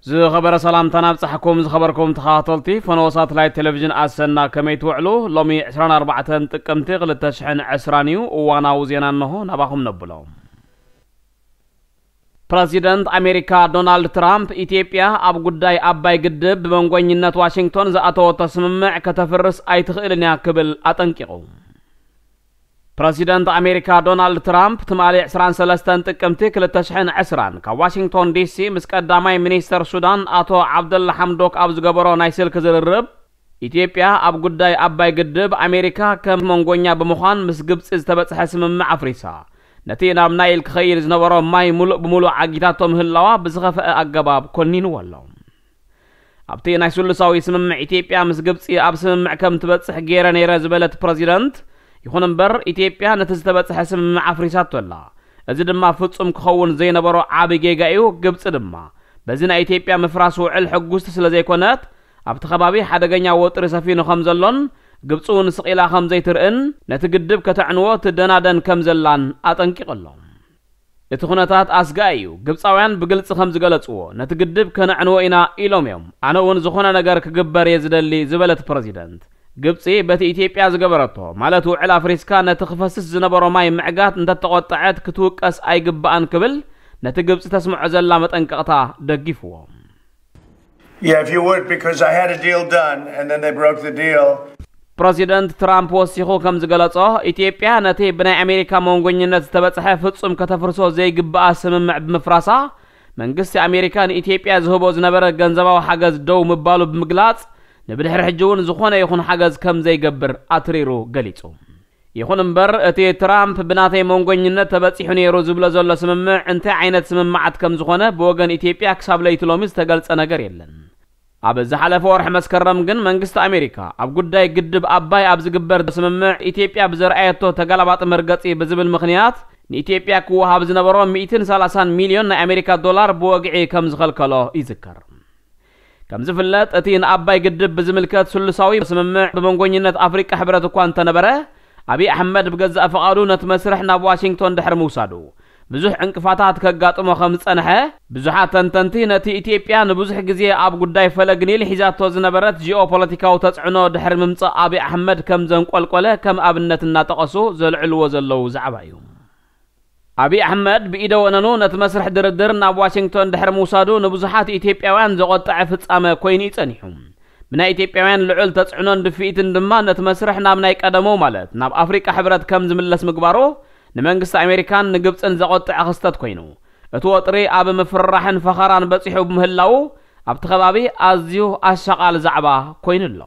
ዝኸበረ ሰላምታና ኣብጻሕኩም። ዝኸበርኩም ተኸታተልቲ ፈነወ ሳተላይት ቴሌቪዥን ኣሰና፣ ከመይ ትውዕሉ? ሎሚ ዕስራን ኣርባዕተን ጥቅምቲ ክልተ ሽሕን ዕስራን እዩ። እዋናዊ ዜና እንሆ ናባኹም ነብሎ። ፕረዚደንት ኣሜሪካ ዶናልድ ትራምፕ፣ ኢትዮጵያ ኣብ ጉዳይ ኣባይ ግድብ ብመንጎኝነት ዋሽንግቶን ዝኣተወቶ ስምምዕ ከተፍርስ ኣይትኽእልን እያ ክብል ኣጠንቂቑ። ፕረዚደንት ኣሜሪካ ዶናልድ ትራምፕ ትማሊ ዕስራን ሰለስተን ጥቅምቲ ክልተ ሽሕን ዕስራን ካብ ዋሽንግቶን ዲሲ ምስ ቀዳማይ ሚኒስተር ሱዳን ኣቶ ዓብደላ ሓምዶክ ኣብ ዝገበሮ ናይ ስልኪ ዝርርብ፣ ኢትዮጵያ ኣብ ጉዳይ ኣባይ ግድብ ኣሜሪካ ከም መንጎኛ ብምዃን ምስ ግብጺ ዝተበጽሐ ስምምዕ ኣፍሪሳ፣ ነቲ ናብ ናይል ክኸይድ ዝነበሮ ማይ ሙሉእ ብሙሉእ ዓጊታቶ ምህላዋ ብዝኸፍአ ኣገባብ ኮኒንዎ ኣሎ። ኣብቲ ናይ ስሉሳዊ ስምምዕ፣ ኢትዮጵያ ምስ ግብጺ ኣብ ስምምዕ ከም ትበጽሕ ገይረ ነይረ ዝበለት ፕረዚደንት፣ ይኹን እምበር ኢትዮጵያ ነቲ ዝተበጽሐ ስምምዕ ኣፍሪሳቶ ኣላ። እዚ ድማ ፍጹም ክኸውን ዘይነበሮ ዓቢ ጌጋ እዩ። ግብጺ ድማ በዚ ናይ ኢትዮጵያ ምፍራስ ውዕል ሕጉስቲ ስለ ዘይኮነት፣ ኣብቲ ከባቢ ሓደገኛ ወጥሪ ሰፊኑ ከም ዘሎን ግብጺ እውን ስቕ ኢላ ከም ዘይትርእን ነቲ ግድብ ከተዕንዎ ትደናደን ከም ዘላን ኣጠንቂቑ ኣሎ። እቲ ኩነታት ኣስጋኢ እዩ። ግብጻውያን ብግልጺ ከም ዝገለጽዎ፣ ነቲ ግድብ ከነዕንዎ ኢና ኢሎም እዮም። ኣነ እውን ዝኾነ ነገር ክግበር እየ ዝደሊ ዝበለት ፕረዚደንት፣ ግብጺ በቲ ኢትዮጵያ ዝገበረቶ፣ ማለት ውዕል ኣፍሪስካ ነቲ ክፈስስ ዝነበሮ ማይ ምዕጋት እንተተቖጠዐት ክትውቀስ ኣይግባኣን ክብል ነቲ ግብጺ ተስምዖ ዘላ መጠንቀቕታ ደግፍዎ። Yeah, if you would, because I had a deal done and then they broke the deal. ፕረዚደንት ትራምፕ ወሲኹ ከም ዝገለጾ፣ ኢትዮጵያ ነቲ ብናይ ኣሜሪካ መንጎኝነት ዝተበጽሐ ፍጹም ከተፍርሶ ዘይግብኣ ስምምዕ ብምፍራሳ፣ መንግስቲ ኣሜሪካ ንኢትዮጵያ ዝህቦ ዝነበረ ገንዘባዊ ሓገዝ ደው ምባሉ ብምግላጽ፣ ንብድሕሪ ሕጂ እውን ዝኾነ ይኹን ሓገዝ ከም ዘይገብር ኣትሪሩ ገሊጹ። ይኹን እምበር፣ እቲ ትራምፕ ብናተይ መንጎኝነት ተበጺሑ ነይሩ ዝብሎ ዘሎ ስምምዕ እንታይ ዓይነት ስምምዓት ከም ዝኾነ ብወገን ኢትዮጵያ ክሳብ ለይቲ ሎሚ ዝተገልጸ ነገር የለን። ኣብ ዝሓለፈ ወርሒ መስከረም ግን መንግስቲ ኣሜሪካ ኣብ ጉዳይ ግድብ ኣባይ ኣብ ዝግበር ስምምዕ ኢትዮጵያ ብዘርኣየቶ ተጋላባጢ መርገጺ ብዝብል ምኽንያት ንኢትዮጵያ ክወሃብ ዝነበሮ ሚእትን ሰላሳን ሚልዮን ናይ ኣሜሪካ ዶላር ብወግዒ ከም ዝኸልከሎ ይዝከር። ከም ዝፍለጥ እቲ ንኣባይ ግድብ ብዝምልከት ስሉሳዊ ስምምዕ ብመንጎኝነት ኣፍሪቃ ሕብረት እኳ እንተነበረ ኣብይ ኣሕመድ ብገዛእ ፍቓዱ ነቲ መስርሕ ናብ ዋሽንግቶን ድሕሪ ምውሳዱ ብዙሕ ዕንቅፋታት ከጋጥሞ ከም ዝጸንሐ ብዙሓት ተንተንቲ ነቲ ኢትዮጵያ ንብዙሕ ግዜ ኣብ ጉዳይ ፈለግ ኒል ሒዛቶ ዝነበረት ጂኦፖለቲካዊ ተጽዕኖ ድሕሪ ምምጻእ ኣብይ ኣሕመድ ከም ዘንቆልቆለ ከም ኣብነት እናጠቐሱ ዘልዕልዎ ዘለዉ ዛዕባ እዩ። ኣብይ ኣሕመድ ብኢደ ወነኑ ነቲ መስርሕ ድርድር ናብ ዋሽንግቶን ድሕሪ ምውሳዱ ንብዙሓት ኢትዮጵያውያን ዘቖጠዐ ፍጻመ ኮይኑ እዩ ጸኒሑ። ብናይ ኢትዮጵያውያን ልዑል ተጽዕኖን ድፍኢትን ድማ ነቲ መስርሕ ናብ ናይ ቀደሙ ማለት ናብ ኣፍሪቃ ሕብረት ከም ዝምለስ ምግባሩ ንመንግስቲ ኣሜሪካን ንግብጽን ዘቖጠዐ ክስተት ኮይኑ እቲ ወጥሪ ኣብ ምፍርራሕን ፈኸራን በጺሑ ብምህላዉ ኣብቲ ከባቢ ኣዝዩ ኣሻቓል ዛዕባ ኮይኑ ኣሎ።